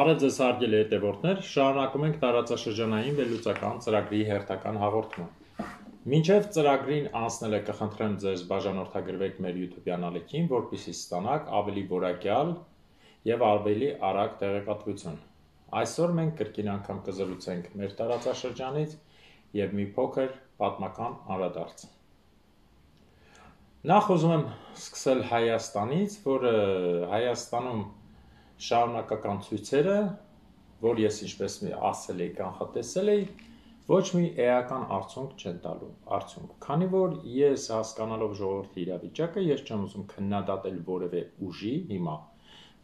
Բարև ձեզ հարգելի հետևորդներ, շարունակում ենք տարածաշրջանային վերլուծական ծրագրի հերթական հաղորդումը։ Մինչև ծրագրին անցնելը կխնդրեմ ձեզ բաժանորդագրվեք մեր YouTube-յան ալիքին, որպեսզի ստանաք ավելի որակյալ եւ ավելի արագ տեղեկատվություն։ Այսօր մենք կրկին անգամ կզրուցենք մեր տարածաշրջանից եւ մի փոքր պատմական անդրադարձ։ Նախ ուզում եմ սկսել Հայաստանից, որ Հայաստանում շարունակական ցույցերը, որ ես ինչպես ասել էի, կանխատեսել էի, ոչ մի էական արդյունք չեն տալու, քանի որ ես հասկանալով ժողովրդի իրավիճակը, ես չեմ ուզում քննադատել որևէ ուժի հիմա,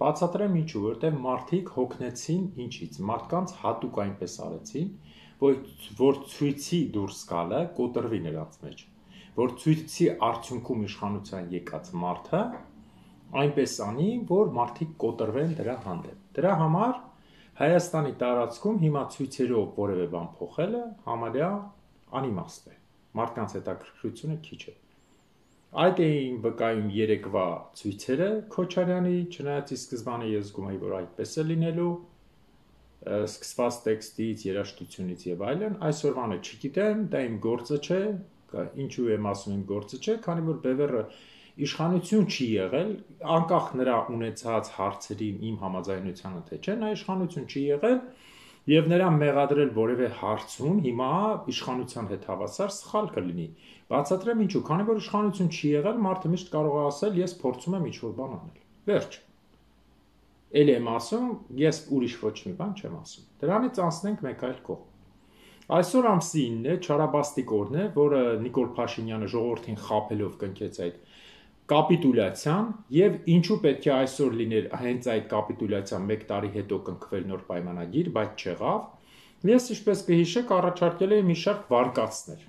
բացատրեմ ինչու, որտեղ մարդիկ հոգնեցին ինչից, մարդկանց հատուկ այնպես արեցին, որ ցույցի դուրս գալը կոտրվի նրանց մեջ, որ ցույցի արդյունքում իշխանության եկած մարդը այնպես անի, որ մարդիկ կոտրվեն դրա հանդեպ։ Դրա համար Հայաստանի տարածքում հիմա ցույցերով որևէ բան փոխելը համարյա անիմաստ է։ Մարդկանց հետաքրքրությունը քիչ է։ Այդ էին վկայում երեկվա ցույցերը Քոչարյանի, չնայած ի սկզբանե ես զգում էի, որ այդպես է լինելու, սկսված տեքստից, երաժշտությունից եւ այլն, այսօրվանը չգիտեմ, դա իմ գործը չէ, ինչու եմ ասում իմ գործը չէ, քանի որ Բևերը իշխանություն չի եղել, անկախ նրա ունեցած հարցերին իմ համաձայնությանը թե չէ, նա իշխանություն չի եղել եւ նրան մեղադրել որևէ հարցում հիմա իշխանության հետ հավասար սխալ կլինի։ Բացատրեմ ինչու, քանի որ իշխանություն չի եղել, մարդը միշտ կարող է ասել, ես փորձում եմ ինչ-որ բան անել։ Վերջ։ Էլի եմ ասում, ես ուրիշ ոչ մի բան չեմ ասում։ Դրանից անցնենք մեկ այլ կողմ։ Այսօր ամսի 9-ն է, Չարաբաստիկ օրն է, որը Նիկոլ Փաշինյանը ժողովրդին խաբելով կնքեց այդ կապիտուլյացիան եւ ինչու պետք է այսօր լիներ հենց այդ կապիտուլյացիան 1 տարի հետո կնքվել նոր պայմանագիր, բայց չեղավ։ Ես ինչպես կհիշեք, առաջարկել էի մի շարք վարկածներ։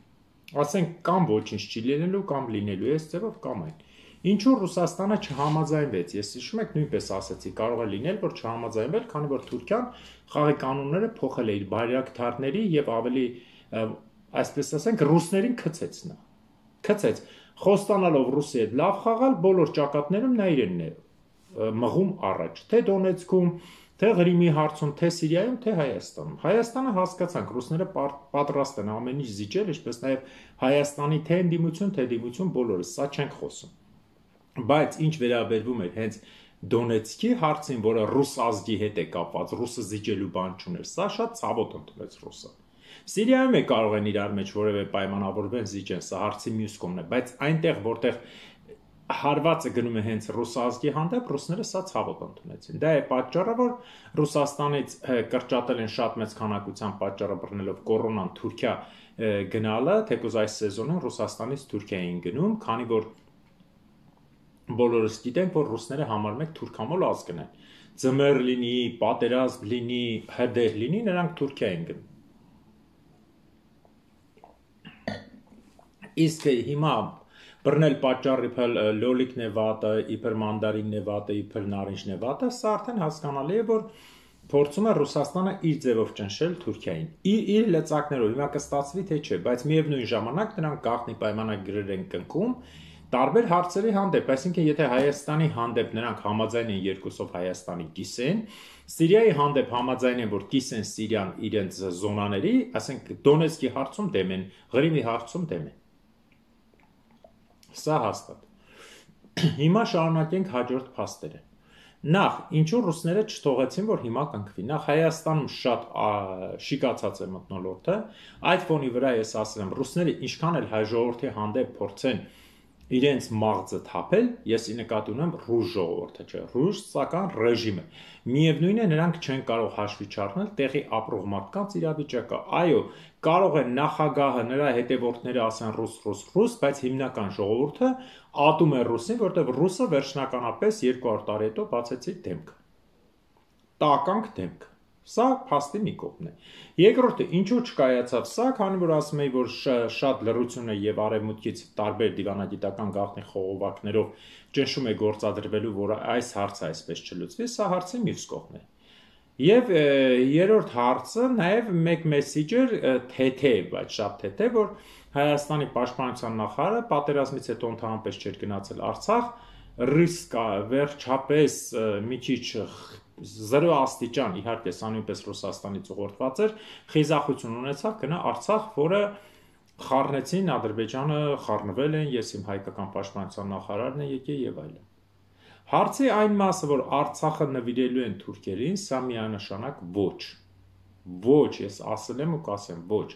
Ասենք կամ ոչինչ չի լինելու, կամ լինելու է այս ձևով, կամ այն։ Ինչու Ռուսաստանը չհամաձայնվեց։ Ես հիշում եք նույնպես ասացի, կարող է լինել, որ չհամաձայնվել, քանի որ Թուրքիան խաղի կանոնները փոխել է իր բայրակթարների եւ ավելի, այսպես ասենք, ռուսներին քցեց նա։ Քցեց, խոստանալով Ռուսի հետ լավ խաղալ, բոլոր ճակատներում նա իրենն է մղում առաջ, թե Դոնեցկում, թե Ղրիմի հարցում, թե Սիրիայում, թե Հայաստանում։ Հայաստանը հասկացանք, ռուսները պատրաստ են ամեն ինչ զիջել, ինչպես նաեւ Հայաստանի թե ընդդիմություն, թե դիմություն բոլորը, սա չենք խոսում։ Բայց ինչ վերաբերվում է հենց Դոնեցկի հարցին, որը ռուս ազգի հետ է կապված, ռուսը զիջելու բան չուներ, սա շատ ցավոտ ընդունեց ռուսը։ Սիրիայում է կարող են իրար մեջ որևէ պայմանավորվեն զիջեն, սա հարցի մյուս կողմն է, բայց այնտեղ, որտեղ հարվածը գնում է հենց ռուս ազգի հանդեպ, ռուսները սա ցավոտ ընդունեցին։ Դա է պատճառը, որ Ռուսաստանից կրճատել են շատ մեծ քանակությամբ պատճառը բռնելով կորոնան Թուրքիա գնալը, թեկուզ այս սեզոնին Ռուսաստանից Թուրքիա էին գնում, քանի որ բոլորս գիտենք, որ ռուսները համարում են թուրքամոլ ազգն են։ Ձմեռ լինի, պատերազմ լինի, հրդեհ լինի, նրանք Թուրքիա են գնում։ Իսկ հիմա բռնել պատճառ իբր լոլիկն է վատը, իբր մանդարինն է վատը, իբր նարինջն է վատը, սա արդեն հասկանալի է, որ փորձում է Ռուսաստանը իր ձևով ճնշել Թուրքիային։ Իր լծակներով, հիմա կստացվի թե չէ, բայց միևնույն ժամանակ նրանք գաղտնի պայմանագրեր են կնքում տարբեր հարցերի հանդեպ, այսինքն եթե Հայաստանի հանդեպ նրանք համաձայն են երկուսով Հայաստանի կիսեն, Սիրիայի հանդեպ համաձայն են, որ կիսեն Սիրիան իրենց զոնաների, ասենք Դոնեցկի հարցում դեմ են, Ղրիմի հարցում դեմ են։ Սա հաստատ։ Հիմա շարունակենք հաջորդ փաստերը։ Նախ, ինչու ռուսները չթողեցին, որ հիմա կնքվի։ Նախ Հայաստանում շատ շիկացած է մթնոլորտը, այդ ֆոնի վրա ես ասել եմ, ռուսները ինչքան էլ հայ ժողովրդի հանդեպ փորձեն իրենց մաղձը թափել, ես ի նկատի ունեմ ռուս ժողովուրդը, չէ, ռուսական ռեժիմը։ Միևնույն է, նրանք չեն կարող հաշվի չառնել տեղի ապրող մարդկանց իրավիճակը։ Այո, կարող է նախագահը, նրա հետևորդները ասեն ռուս, բայց հիմնական ժողովուրդը ատում է ռուսին, որտեղ ռուսը վերջնականապես 200 տարի հետո բացեցի դեմքը։ Տականք դեմքը։ Սա փաստի մի կողմն է։ Երկրորդը, ինչու չկայացավ սա, քանի որ ասում էի, որ շատ լռություն է եւ արևմուտքից տարբեր դիվանագիտական գաղտնի խողովակներով ճնշում է գործադրվելու, որ այս հարցը այսպես չլուծվի, սա հարցի մյուս կողմն է։ Եվ երրորդ հարցը նաեւ մեկ մեսիջեր թեթև, բայց շատ թեթև, որ Հայաստանի պաշտպանության նախարարը պատերազմից հետո ընդհանրապես չէր գնացել Արցախ, ռիսկ վերջապես մի քիչ 0 աստիճան, իհարկե սա նույնպես Ռուսաստանից ուղղորդված էր, խիզախություն ունեցավ գնա Արցախ, որը խառնեցին, Ադրբեջանը խառնվել են, ես իմ հայկական պաշտպանության նախարարն է եկել եւ այլն։ Հարցի այն մասը, որ Արցախը նվիրելու են թուրքերին, սա միանշանակ ոչ։ Ոչ, ես ասել եմ ու կասեմ, ոչ։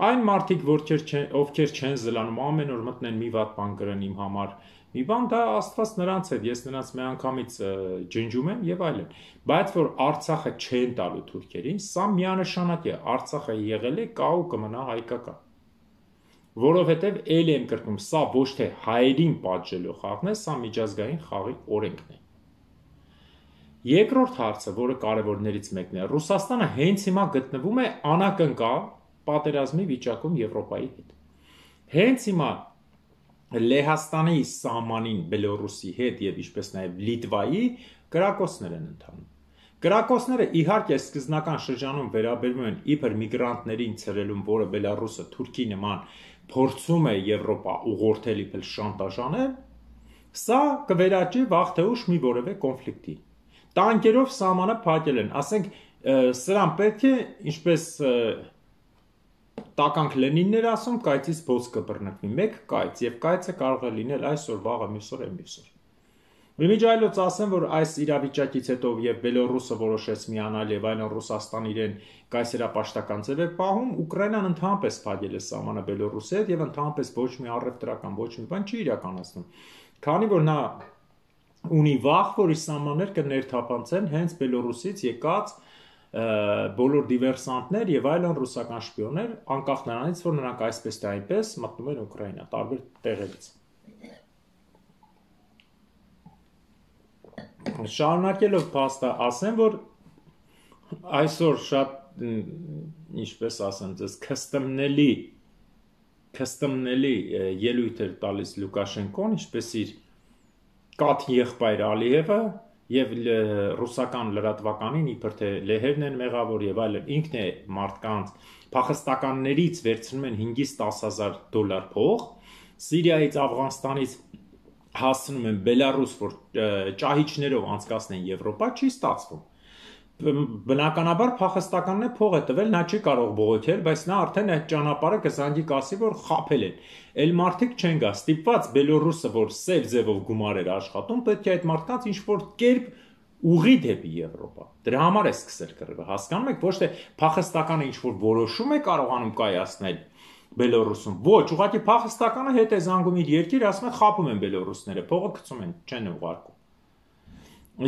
Այն մարդիկ, ովքեր չեն զլանում, ամեն օր մտնեն մի վատ բան գրեն իմ համար, մի բան դա Աստված նրանց հետ, ես նրանց միանգամից ջնջում եմ եւ այլն։ Բայց որ Արցախը չեն տալու թուրքերին, սա միանշանակ է, Արցախը եղել է, կա ու կմնա հայկական։ Որովհետև էլ եմ կրկնում, սա ոչ թե հայերին պատժելու խաղն է, սա միջազգային խաղի օրենքն է։ Երկրորդ հարցը, որը կարևորներից մեկն է, Ռուսաստանը հենց հիմա գտնվում է անակնկալ պատերազմի վիճակում Եվրոպայի հետ։ Հենց հիմա Լեհաստանի սահմանին Բելոռուսի հետ եւ ինչպես նաեւ Լիտվայի կրակոցներ են ընթանում։ Կրակոցները իհարկե սկզբնական շրջանում վերաբերում են իբր միգրանտներին ցրելուն, որը Բելոռուսը Թուրքի նման փորձում է Եվրոպա ուղղորդել իբր շանտաժանել, սա կվերաճի վաղ թե ուշ մի որևէ կոնֆլիկտի։ Տանկերով սահմանը փակել են, ասենք սրան պետք է ինչպես տականք Լենիններ ասում, կայծից բոց կբռնկվի, մեկ կայծ, եւ կայծը կարող է լինել այսօր, վաղը, մյուսօր, մյուսօր։ Միջայլոց ասեմ, որ այս իրավիճակից հետո եւ Բելոռուսը որոշեց միանալ եւ այլն Ռուսաստան իրեն կայսերապաշտական ձև է պահում, Ուկրաինան ընդհանրապես փակել է սահմանը Բելոռուսի հետ եւ ընդհանրապես ոչ մի առևտրական, ոչ մի բան չի իրականացնում։ Քանի որ նա ունի վախ, որ իր սահմաններ կներթափանցեն հենց Բելոռուսից եկած բոլոր դիվերսանտներ եւ այլն ռուսական շպիոններ, անկախ նրանից, որ նրանք այսպես թե այնպես մտնում են Ուկրաինա, տարբեր տեղերից։ Շարունակելով փաստը ասեմ, որ այսօր շատ ինչպես ասեմ, ձեզ քստմնելի ելույթ էր տալիս Լուկաշենկոն, ինչպես իր կաթ եղբայր Ալիևը եւ ռուսական լրատվականին իբր թե լեհերն են մեղավոր եւ այլն ինքն է մարդկանց փախստականներից վերցնում են 5-ից 10,000 դոլար փող, Սիրիայից, Աֆղանստանից հասցնում են Բելառուս, որ ճահիճներով անցկացնեն Եվրոպա, չի ստացվում։ Բնականաբար փախստականն է փող է տվել, նա չի կարող բողոքել, բայց նա արդեն այդ ճանապարհը կզանգի կասի, որ խաբել են։ Էլ մարդիկ չեն գա, ստիպված Բելոռուսը, որ սև ձևով գումար էր աշխատում, պետք է այդ մարդկանց ինչ-որ կերպ ուղի դեպի Եվրոպա։ Դրա համար է սկսել կռիվը, հասկանում եք, ոչ թե փախստականը ինչ-որ որոշում է կարողանում կայացնել Բելոռուսում։ Ոչ, ուղղակի փախստականը հետ է զանգում իր երկիր, ասում է խաբում են բելոռուսները, փողը գցում են, չեն ուղարկում։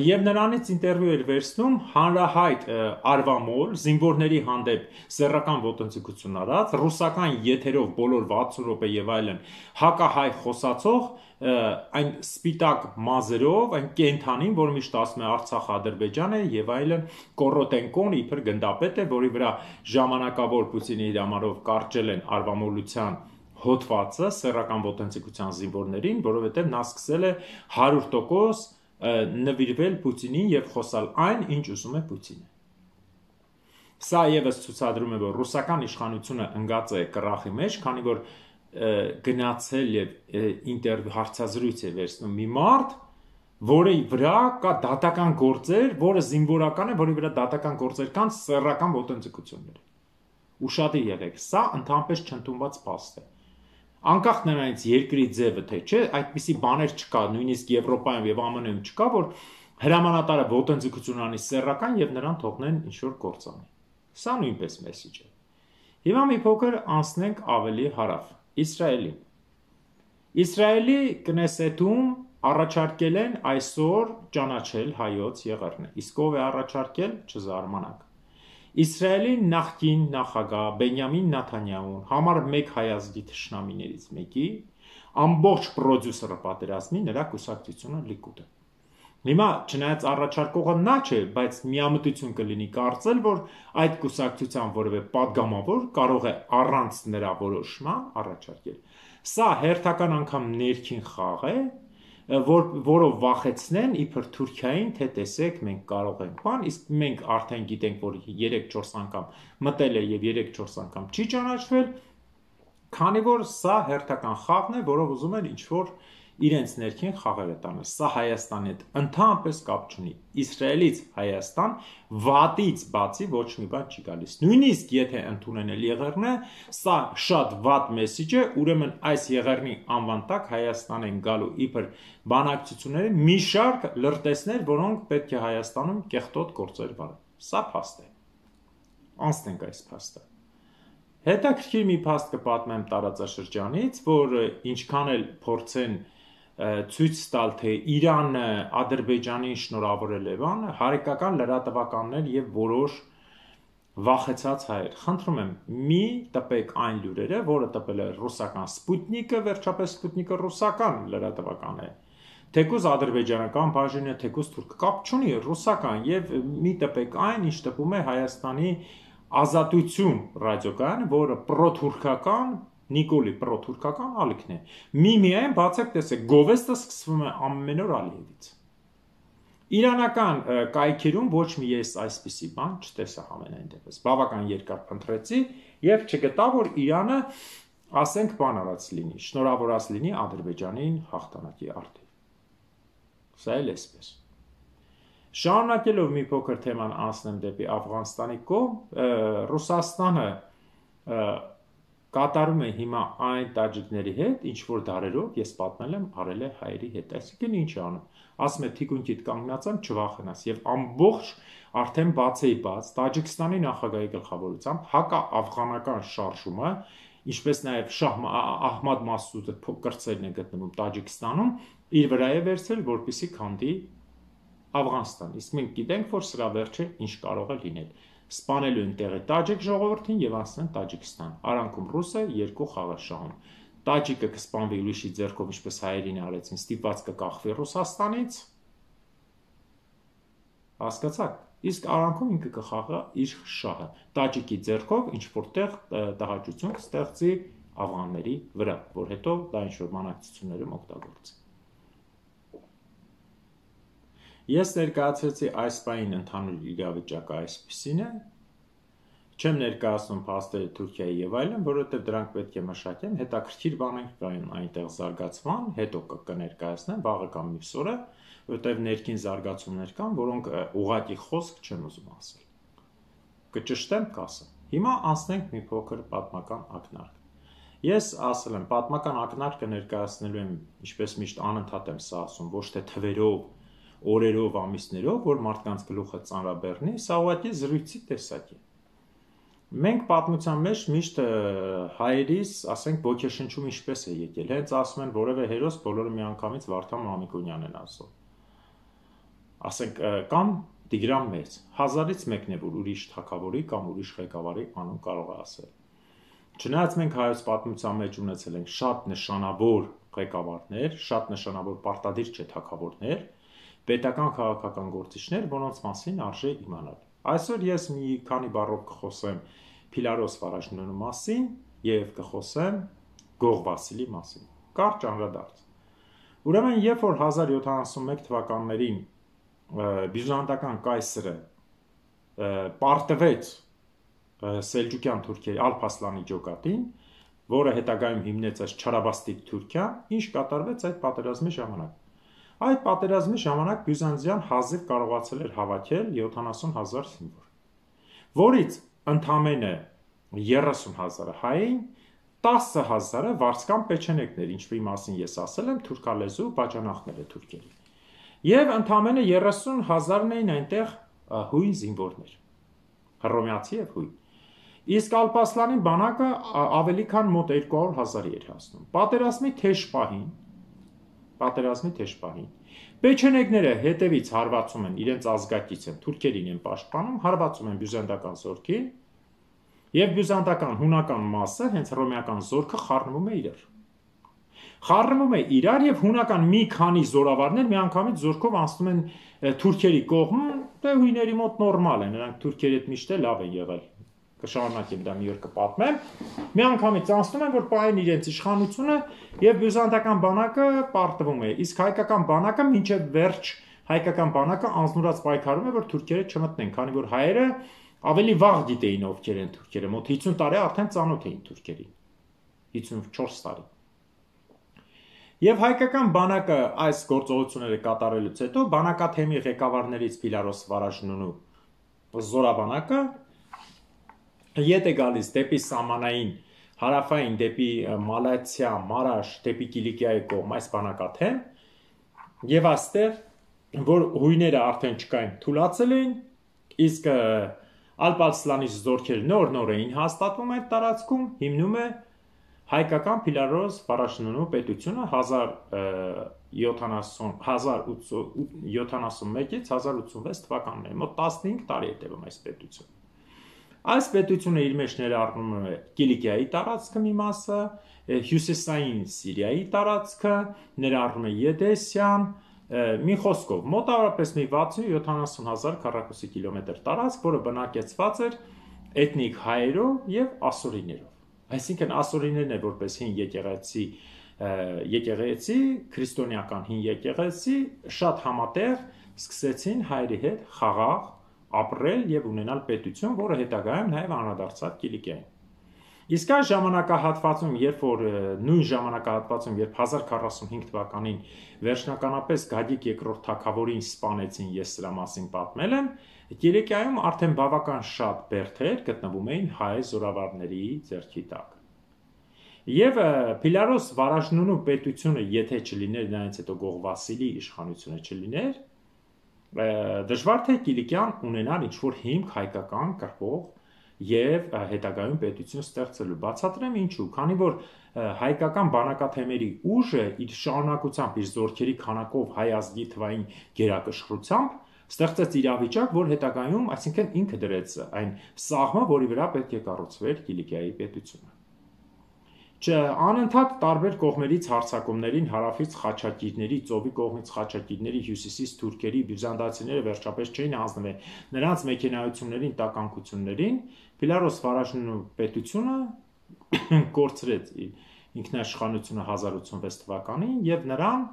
Եվ նրանից ինտերվյու էր վերցնում հանրահայտ Արվամոլ, զինվորների հանդեպ սեռական ոտնձգություն արած, ռուսական եթերով բոլոր 60 րոպե եւ այլն հակահայ խոսացող այն սպիտակ մազերով, այն կենթանին, որը միշտ ասում է Արցախ Ադրբեջան է եւ այլն, Կորոտենկոն իբր գնդապետ է, որի վրա ժամանակավոր Պուտինի հրամանով կարճել են արվամոլության հոդվածը սեռական ոտնձգության զինվորներին, որովհետեւ նա սկսել է 100% նվիրվել Պուտինին եւ խոսալ այն, ինչ ուզում է Պուտինը։ Սա եւս ցուցադրում է, որ ռուսական իշխանությունը ընկած է կռախի մեջ, քանի որ գնացել եւ հարցազրույց է վերցնում մի մարդ, որի վրա կա դատական գործեր, որը զինվորական է, որի վրա դատական գործեր կան սեռական ոտնձգություններ։ Ուշադիր եղեք, սա ընդհանրապես չընդունված փաստ է։ Անկախ նրանից երկրի ձևը թե չէ, այդպիսի բաներ չկա, նույնիսկ Եվրոպայում եւ ԱՄՆ-ում չկա, որ հրամանատարը ոտնձգություն անի սեռական եւ նրան թողնեն ինչ-որ գործ անի։ Սա նույնպես մեսիջ է։ Հիմա մի փոքր անցնենք ավելի հարավ, Իսրայելի։ Իսրայելի Կնեսեթում առաջարկել են այսօր ճանաչել հայոց եղեռնը։ Իսկ ով է առաջարկել, չզարմանաք։ Իսրայելի նախկին նախագահ Բենյամին Նեթանյահուն համար մեկ հայազգի թշնամիներից մեկի ամբողջ պրոդյուսերը պատերազմի նրա կուսակցությունը Լիկուդը։ Հիմա չնայած առաջարկողը նա չէ, բայց միամտություն կլինի կարծել, որ այդ կուսակցության որևէ падգամավոր կարող է առանց նրա որոշման առաջարկել։ Սա հերթական անգամ ներքին խաղ է, որով վախեցնեն իբր Թուրքիային, թե տեսեք մենք կարող ենք բան, իսկ մենք արդեն գիտենք, որ 3-4 անգամ մտել է եւ 3-4 անգամ չի ճանաչվել, քանի որ սա հերթական խաղն է, որով ուզում են ինչ-որ իրենց ներքին խաղերը տանը։ Սա Հայաստանի հետ ընդհանրապես կապ չունի։ Իսրայելից Հայաստան վատից բացի ոչ մի բան չի գալիս։ Նույնիսկ եթե ընդունեն էլ եղեռնը, սա շատ վատ մեսիջ է, ուրեմն այս եղեռնի անվան տակ Հայաստան են գալու իբր բանակցությունների մի շարք լրտեսներ, որոնք պետք է Հայաստանում կեղտոտ գործեր վարեն։ Սա փաստ է։ Անցնենք այս փաստը։ Հետաքրքիր մի փաստ կպատմեմ տարածաշրջանից, որ ինչքան էլ փորձեն ցույց տալ, թե Իրանը Ադրբեջանին շնորհավորել է բան, հարիկական լրատվականներ եւ որոշ վախեցած հայեր։ Խնդրում եմ, մի տպեք այն լուրերը, որը տպել է ռուսական Սպուտնիկը, վերջապես Սպուտնիկը ռուսական լրատվական է։ Թեկուզ ադրբեջանական բաժինը, թեկուզ թուրքը կապ չունի, ռուսական, եւ մի տպեք այն, ինչ տպում է Հայաստանի Ազատություն ռադիոկայանը, որը պրոթուրքական, Նիկոլի պրոթուրքական ալիքն է։ Միայն բացեք տեսեք, գովեստը սկսվում է ամեն օր Ալիևից։ Իրանական կայքերում ոչ մի ես այսպիսի բան չտեսա համենայն դեպս։ Բավական երկար փնտրեցի եւ չգտա, որ Իրանը, ասենք, բան արած լինի, շնորհավորած լինի Ադրբեջանին հաղթանակի արդի։ Սա էլ էսպես։ Շարունակելով մի փոքր թեման անցնեմ դեպի Աֆղանստանի կողմ, Ռուսաստանը կատարում է հիմա այն տաջիկների հետ, ինչ որ դարերով ես պատմել եմ արել է հայերի հետ։ Այսինքն ինչ է անում։ Ասում է թիկունքիդ կանգնած եմ, չվախենաս, եւ ամբողջ արդեն բացեի բաց Տաջիկստանի նախագահի գլխավորությամբ հակաաֆղանական շարժումը, ինչպես նաեւ Շահ Ահմադ Մասուդը կրծերն է գտնվում Տաջիկստանում, իր վրա է վերցրել, որպեսզի քանդի Աֆղանստան։ Իսկ մենք գիտենք, որ սրա վերջը ինչ կարող է լինել։ Սպանելու են տեղի տաջիկ ժողովրդին եւ անցնեն Տաջիկստան։ Արանքում ռուսը երկու խաղ շահում։ Տաջիկը կսպանվի ուրիշի ձեռքով, ինչպես հայերին արեցին, ստիպված կկախվի Ռուսաստանից։ Հասկացաք։ Իսկ արանքում ինքը կխաղա իր շահը։ Տաջիկի ձեռքով ինչ որտեղ տհաճություն կստեղծի աֆղանների վրա, որ հետո դա ինչ որ բանակցություններում օգտագործի։ Ես ներկայացրեցի այս բանին ընդհանուր իրավիճակը այսպիսին է, չեմ ներկայացնում փաստերը Թուրքիայի եւ այլն, որովհետեւ դրանք պետք է մշակեն, հետաքրքիր բաներ կային այնտեղ զարգացման, հետո կներկայացնեմ վաղը կամ մյուս օրը, որովհետեւ ներքին զարգացումներ կան, որոնք ուղղակի խոսք չեմ ուզում ասել։ Կճշտեմ, կասեմ։ Հիմա անցնենք մի փոքր պատմական ակնարկ։ Ես ասել եմ, պատմական ակնարկը ներկայացնելու եմ, ինչպես միշտ անընդհատ եմ սա ասում, ոչ թե թվերով, օրերով, ամիսներով, որ մարդկանց գլուխը ծանրաբեռնի, սա ուղղակի զրույցի տեսակ է։ Մենք պատմության մեջ միշտ հայերիս, ասենք, ոգեշնչում ինչպես է եկել, հենց ասում են որևէ հերոս բոլորը միանգամից Վարդան Մամիկոնյանն են ասում։ Ասենք, կամ Տիգրան Մեծ, 1000-ից մեկն է, որ ուրիշ թագավորի կամ ուրիշ ղեկավարի անուն կարող է ասել։ Չնայած մենք հայոց պատմության մեջ ունեցել ենք շատ նշանավոր ղեկավարներ, շատ նշանավոր պարտադիր չէ թագավորներ, պետական քաղաքական գործիչներ, որոնց մասին արժե իմանալ։ Այսօր ես մի քանի բառով կխոսեմ Փիլարոս Վարաժնյանի մասին եւ կխոսեմ Գող Վասիլի մասին։ Կարճ անդրադարձ։ Ուրեմն, երբ որ 1071 թվականներին բյուզանդական կայսրը պարտվեց սելջուկյան թուրքերի Ալփ-Ասլանի ջոկատին, որը հետագայում հիմնեց այս Չարաբաստիկ Թուրքիան, ինչ կատարվեց այդ պատերազմի ժամանակ։ Այդ պատերազմի ժամանակ Բյուզանդիան հազիվ կարողացել էր հավաքել 70,000 զինվոր, որից ընդամենը 30,000-ը հային, 10,000-ը վարձկան պեչենեկներ, ինչի մասին ես ասել եմ, թուրքալեզու բաժանախները թուրքերի։ Եվ ընդամենը 30,000-ն էին այնտեղ հույն զինվորներ, հռոմեացի եւ հույն։ Իսկ Ալփ-Ասլանի բանակը ավելի քան մոտ 200,000-ի էր հասնում։ Պատերազմի թեժ պահին պեչենեգները հետևից հարվածում են, իրենց ազգակից են, թուրքերին են պաշտպանում, հարվածում են բյուզանդական զորքին, եւ բյուզանդական հունական մասը, հենց հռոմեական զորքը խառնվում է իրար։ Խառնվում է իրար եւ հունական մի քանի զորավարներ միանգամից զորքով անցնում են թուրքերի կողմ, դե հույների մոտ նորմալ է, նրանք թուրքերի հետ միշտ լավ են եղել։ Կշարունակեմ դա մի օր կպատմեմ, միանգամից անցնում են, որ պահեն իրենց իշխանությունը եւ բյուզանդական բանակը պարտվում է, իսկ հայկական բանակը մինչեւ վերջ հայկական բանակը անznուրած պայքարում է, որ թուրքերը չմտնեն, քանի որ հայերը ավելի վաղ գիտեին ովքեր են թուրքերը, մոտ 50 տարի արդեն ծանոթ էին թուրքերին, 54 տարի։ Եվ հայկական բանակը այս գործողությունները կատարելուց հետո բանակաթեմի ղեկավարներից Փիլարոս Վարաժնունու զորաբանակը ետ է գալիս դեպի սահմանային հարավային, դեպի Մալաթիա, Մարաշ, դեպի Կիլիկիայի կողմ այս բանակաթեմ, եւ այստեղ, որ հույները արդեն չկային, թուլացել էին, իսկ Ալպ-Արսլանի զորքերը նոր էին հաստատվում այդ տարածքում, հիմնում է հայկական Փիլարոս Վարաժնունու պետությունը 1071-ից 1086 թվականներին, մոտ 15 տարի է տևում այս պետությունը։ Այս պետությունը իր մեջ ներառնում է Կիլիկիայի տարածքը մի մասը, հյուսիսային Սիրիայի տարածքը, ներառնում է Եդեսյան, մի խոսքով, մոտավորապես մի 60-70 հազար քառակուսի կիլոմետր տարածք, որը բնակեցված էր էթնիկ հայերով եւ ասորիներով։ Այսինքն ասորիներն է որպես հին եկեղեցի, քրիստոնեական հին եկեղեցի, շատ համատեղ սկսեցին հայերի հետ խաղաղ ապրել եւ ունենալ պետություն, որը հետագայում նաեւ անդրադարձավ Կիլիկիային։ Իսկ այս ժամանակահատվածում, նույն ժամանակահատվածում, երբ 1045 թվականին վերջնականապես Գագիկ II թագավորին սպանեցին, ես սրա մասին պատմել եմ, Կիլիկիայում արդեն բավական շատ բերդեր գտնվում էին հայ զորավարների ձեռքի տակ։ Եվ Փիլարոս Վարաժնունու պետությունը, եթե չլիներ, նրանից հետո Գող Վասիլի իշխանությունը չլիներ, դժվար թե Կիլիկիան ունենար ինչ-որ հիմք հայկական կրվող եւ հետագայում պետություն ստեղծելու։ Բացատրեմ ինչու, քանի որ հայկական բանակաթեմերի ուժը իր շարունակությամբ, իր զորքերի քանակով, հայ ազգի թվային գերակշռությամբ ստեղծեց իրավիճակ, որ հետագայում, այսինքն ինքը դրեց այն սաղմը, որի վրա պետք է կառուցվեր Կիլիկիայի պետությունը։ Անընդհատ տարբեր կողմերից հարձակումներին, հարավից խաչակիրների, ծովի կողմից խաչակիրների, հյուսիսից թուրքերի, բյուզանդացիները վերջապես չէին հանձնվել նրանց մեքենայություններին, տականքություններին, Փիլարոս Վարաժնունու պետությունը կորցրեց ինքնաիշխանությունը 1086 թվականին եւ նրան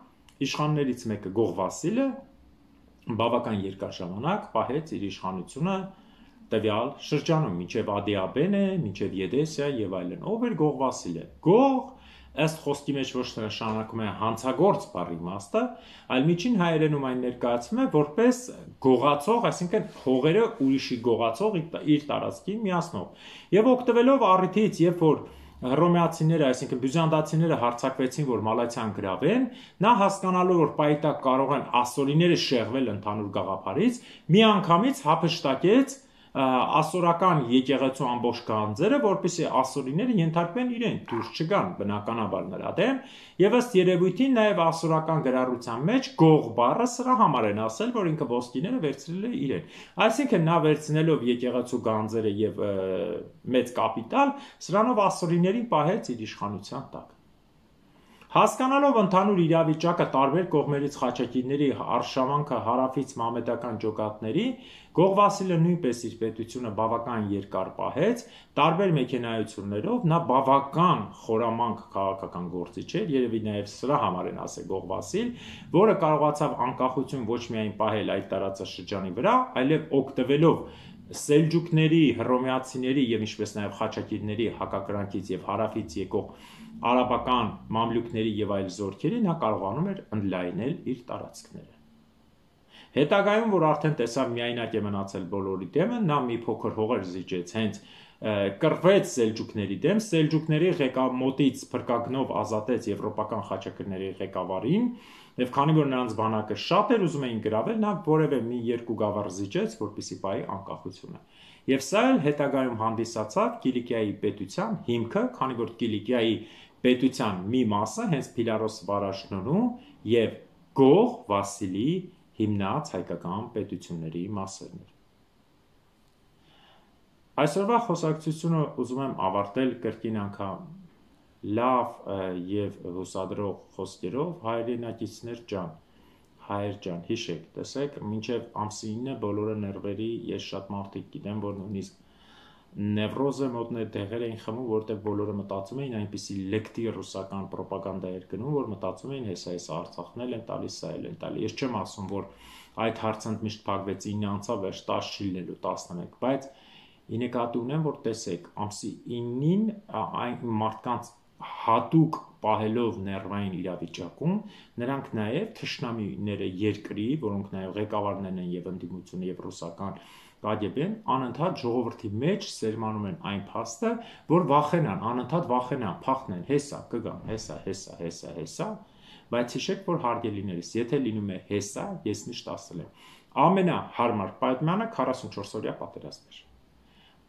իշխաններից մեկը Գող Վասիլը բավական երկար ժամանակ պահեց իր իշխանությունը տվյալ շրջանում, մինչև Ադիաբենե, մինչև Եդեսիա եւ այլն։ Ով էր Գող Վասիլը։ Գող, ըստ խոսքի մեջ ոչ թե նշանակում է հանցագործ բառի իմաստը, այլ միջին հայերենում այն ներկայացվում է որպես գողացող, այսինքն հողերը ուրիշի գողացող իր տարածքին միացնող։ Եվ օգտվելով առիթից, երբ որ հռոմեացիները, այսինքն բյուզանդացիները հարձակվեցին, որ Մալաթիան գրավեն, նա հասկանալով, որ պայտակ կարող են ասորիները շեղվել ընդհանուր գաղափարից, միանգամից հափշտակեց ասորական եկեղեցու ամբողջ գանձերը, որպեսզի ասորիները ենթարկվեն իրեն, դուրս չգան բնականաբար նրա դեմ, եւ ըստ երևույթին նաեւ ասորական գրառության մեջ Գող բառը սրա համար են ասել, որ ինքը ոսկիները վերցրել է իրեն։ Այսինքն նա վերցնելով եկեղեցու գանձերը եւ մեծ կապիտալ, սրանով ասորիներին պահեց իր իշխանության տակ։ Հասկանալով ընդհանուր իրավիճակը տարբեր կողմերից խաչակիրների արշավանքը հարավից մամեդական ջոկատների, Գող Վասիլը նույնպես իր պետությունը բավական երկար պահեց, տարբեր մեքենայություններով, նա բավական խորամանկ քաղաքական գործիչ էր, երևի նաև սրա համար են ասել Գող Վասիլ, որը կարողացավ անկախություն ոչ միայն պահել այդ տարածաշրջանի վրա, այլև օգտվելով սելջուկների, հռոմեացիների եւ ինչպես նաեւ խաչակիրների հակակրանքից եւ հարավից եկող արաբական մամլուկների եւ այլ զորքերի նա կարողանում էր ընդլայնել իր տարածքները։ Հետագայում, որ արդեն տեսավ միայնակ է մնացել բոլորի դեմը, նա մի փոքր հողեր զիջեց, հենց կռվեց սելջուկների դեմ, սելջուկների մոտից փրկագնով ազատեց եվրոպական խաչակիրների ղեկավարին, եւ քանի որ նրանց բանակը շատ էր ուզում էին գրավել, նա որևէ մի երկու գավառ զիջեց, որպեսզի պահի անկախությունը։ Եվ սա էլ հետագայում հանդիսացավ Կիլիկիայի պետության հիմքը, քանի որ Կիլիկիայի պետության մի մասը հենց Փիլարոս Վարաժնունու եւ Գող Վասիլի հիմնած հայկական պետությունների մասերն էր։ Այսօրվա խոսակցությունը ուզում եմ ավարտել կրկին անգամ լավ եւ հուսադրող խոսքերով հայրենակիցներ ջան, հայեր ջան, հիշեք, տեսեք, մինչև ամսի 9-ը բոլորը ներվերի, ես շատ մարդիկ գիտեմ, որ նույնիսկ նևրոզը մոտնե դեղեր էին խմում, որտեղ բոլորը մտածում էին այնպիսի լեկտի ռուսական պրոպագանդա էր գնում, որ մտածում էին հեսա Արցախն էլ են տալիս, սա էլ են տալի։ Ես չեմ ասում, որ այդ հարցը միշտ փակվեց 9 անցավ, վերջ 10 չի լինելու 11, բայց ի նկատի ունեմ, որ տեսեք, ամսի 9-ին այն մարդկանց հատուկ պահելով ներվային իրավիճակում, նրանք նաև թշնամիները երկրի, որոնք նաև ղեկավարներն են եւ ընդդիմությունը եւ ռուսական KGB-ն, անընդհատ ժողովրդի մեջ սերմանում են այն փաստը, որ վախենան, անընդհատ վախենան, փախնեն, հեսա, կգամ, հեսա, բայց հիշեք, որ հարգելիներս, եթե լինում է հեսա, ես միշտ ասել եմ, ամենահարմար պայմանը 44 օրյա պատերազմ էր։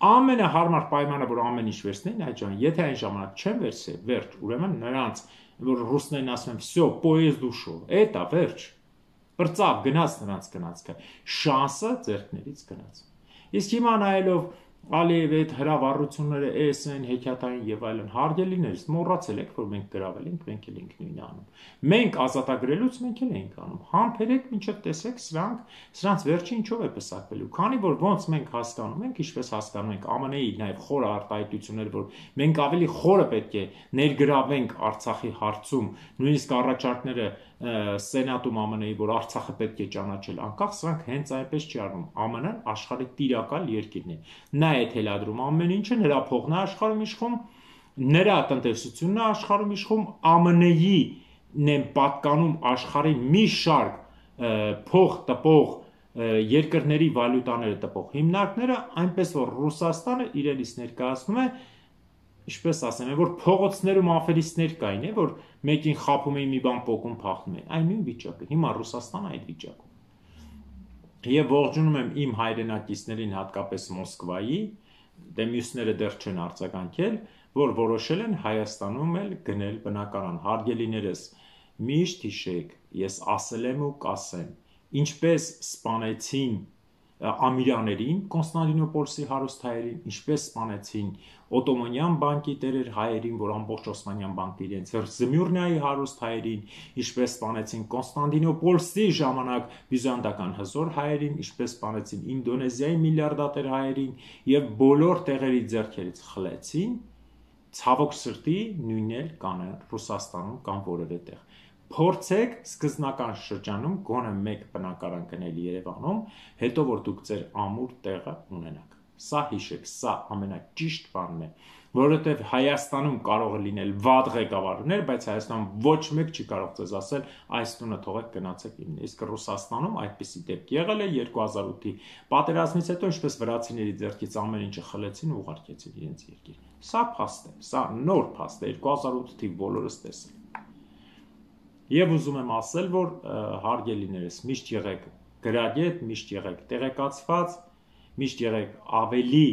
Ամենահարմար պայմանը, որ ամեն ինչ վերցնեն, այդ ժամանակ, եթե այն ժամանակ չեն վերցել, վերջ, ուրեմն նրանց, որ ռուսներն ասում են, «Всё, поезд ушел», էտա վերջ։ Բրծավ գնաց նրանց գնացքը, շանսը ձեռքներից գնաց։ Իսկ հիմա նայելով Ալիևի այդ հրավառությունները էսեն, հեքիաթային եւ այլն, հարգելիներս, մոռացել եք, որ մենք գրավել ենք, մենք էլ ենք նույնը անում։ Մենք ազատագրելուց մենք էլ ենք անում։ Համբերեք, մինչև տեսեք սրանց վերջը ինչով է պսակվելու։ Քանի որ ոնց մենք հասկանում ենք, ինչպես հասկանում ենք ԱՄՆ-ի նաեւ խորը արտահայտություններ, որ մենք ավելի խորը պետք է ներգրավենք Արցախի հարցում, նույնիսկ առաջարկները Սենատում ԱՄՆ-ի, որ Արցախը պետք է ճանաչել անկախ, սրանք հենց այնպես չի արվում։ ԱՄՆ-ն աշխարհի տիրակալ երկիրն է։ Նա է թելադրում ամեն ինչը, նրա փողն է աշխարհում իշխում, նրա տնտեսությունն է աշխարհում իշխում, ԱՄՆ-ին են պատկանում աշխարհի մի շարք փող տպող երկրների վալյուտաները տպող հիմնարկները, այնպես որ Ռուսաստանը իրենից ներկայացնում է, ինչպես ասեմ, որ փողոցներում աֆերիստներ կային, որ մեկին խափում էին մի բան փոկում փախնում էին, այն նույն վիճակը, հիմա Ռուսաստանը այդ վիճակում։ Եվ ողջունում եմ իմ հայրենակիցներին, հատկապես Մոսկվայի, դե մյուսները դեռ չեն արձագանքել, որ որոշել են Հայաստանում էլ գնել բնակարան։ Հարգելիներս, միշտ հիշեք, ես ասել եմ ու կասեմ, ինչպես սպանեցին ամիրաներին, Կոնստանդինոպոլսի հարուստ հայերին, ինչպես սպանեցին Օտոմանյան բանկի տերեր հայերին, որ ամբողջ Օսմանյան բանկը իրենց Զմյուրնիայի հարուստ հայերին, ինչպես սպանեցին Կոնստանդինոպոլսի ժամանակ բյուզանդական հզոր հայերին, ինչպես սպանեցին Ինդոնեզիայի միլիարդատեր հայերին եւ բոլոր տեղերի ձեռքերից խլեցին, ցավոք սրտի նույնն էլ կանեն Ռուսաստանում կամ որևէ տեղ։ Փորձեք սկզբնական շրջանում գոնե մեկ բնակարան գնել Երևանում, հետո որ դուք ձեր ամուր տեղը ունենաք։ Սա հիշեք, սա ամենաճիշտ բանն է, որովհետև Հայաստանում կարող է լինել վատ ղեկավարներ, բայց Հայաստանում ոչ մեկ չի կարող ձեզ ասել այս տունը թողեք գնացեք իմն։ Իսկ Ռուսաստանում այդպիսի դեպք եղել է 2008-ի պատերազմից հետո, ինչպես վրացիների ձեռքից ամեն ինչը խլեցին ու ուղարկեցին իրենց երկիր։ Սա փաստ է, սա նոր փաստ է, 2008 թիվ բոլորս տեսել։ Եվ ուզում եմ ասել, որ հարգելիներս, միշտ եղեք գրագետ, միշտ եղեք տեղեկացված, միշտ եղեք ավելի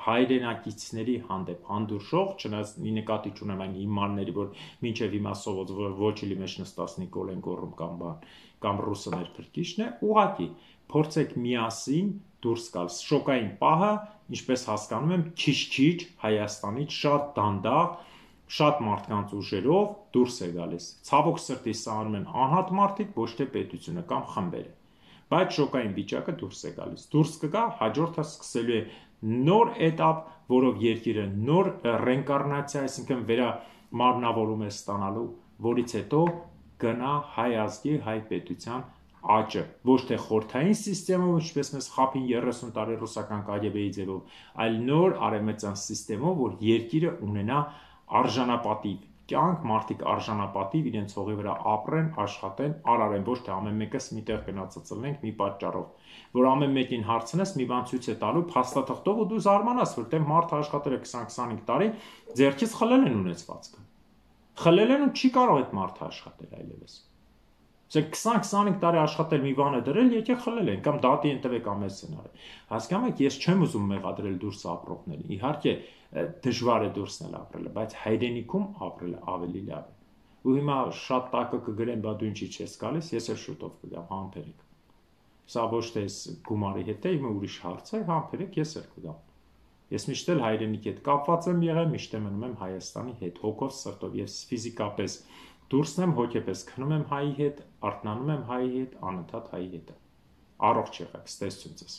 հայրենակիցների հանդեպ հանդուրժող, չնայած նկատի չունեմ այն հիմարների, որ մինչև հիմա սովոց ոչիլի մեջ նստած Նիկոլեն գոռում կամ ռուսը մեր փրկիչն է, ուղղակի փորձեք միասին դուրս գալ։ Շոկային պահը, ինչպես հասկանում եմ, քիչ-քիչ Հայաստանից շատ դանդաղ շատ մարդկանց ուժերով դուրս է գալիս։ Ցավոք սրտի սա անում են անհատ մարդիկ, ոչ թե պետությունը կամ խմբերը։ Բայց շոկային վիճակը դուրս է գալիս։ Դուրս կգա, հաջորդը սկսելու է նոր էտապ, որով երկիրը նոր ռեինկարնացիա, այսինքն վերամարմնավորում է ստանալու, որից հետո գնա հայ ազգի, հայ պետության աճը, ոչ թե խորհրդային համակարգով, ինչպես մեզ խափին 30 տարի ռուսական KGB-ի ձևով, այլ նոր արևմտյան համակարգով, որ երկիրը ունենա արժանապատիվ կյանք, մարդիկ արժանապատիվ իրենց հողի վրա ապրեն, աշխատեն, արարեն, ոչ թե ամեն մեկս միտեղ գնացածլենք մի պատճառով, որ ամեն մեկին հարցնես, մի բան ցույց է տալու փաստաթղթով ու դու զարմանաս, որտեղ մարդը աշխատել է 20-25 տարի, ձեռքից խլել են ունեցվածքը։ Խլել են ու չի կարող այդ մարդը աշխատել այլևս։ Ասենք 20-25 տարի աշխատել մի բան է դրել, եկեք խլել են, կամ դատի են տվեք ամեն սցենարը։ Հասկանում եք, ես չեմ ուզում մեղադրել դուրս ապրողներին։ Իհարկե դժվար է դուրսն էլ ապրելը, բայց հայրենիքում ապրելը ավելի լավ է։ Ու հիմա շատ տակը կգրեն, բա դու ինչի չես գալիս, ես էլ շուտով կգամ, համբերեք։ Սա ոչ թե գումարի հետ է, իմը ուրիշ հարց է, համբերեք, ես էլ կգամ։ Ես միշտ էլ հայրենիքի հետ կապված եմ եղել, միշտ եմ մնում եմ Հայաստանի հետ, հոգով, սրտով եւ ֆիզիկապես դուրսն եմ, հոգեպես քնում եմ հայի հետ, արթնանում եմ հայի հետ, անընդհատ հայի հետ։ Առողջ եղեք, ստեսություն ձեզ։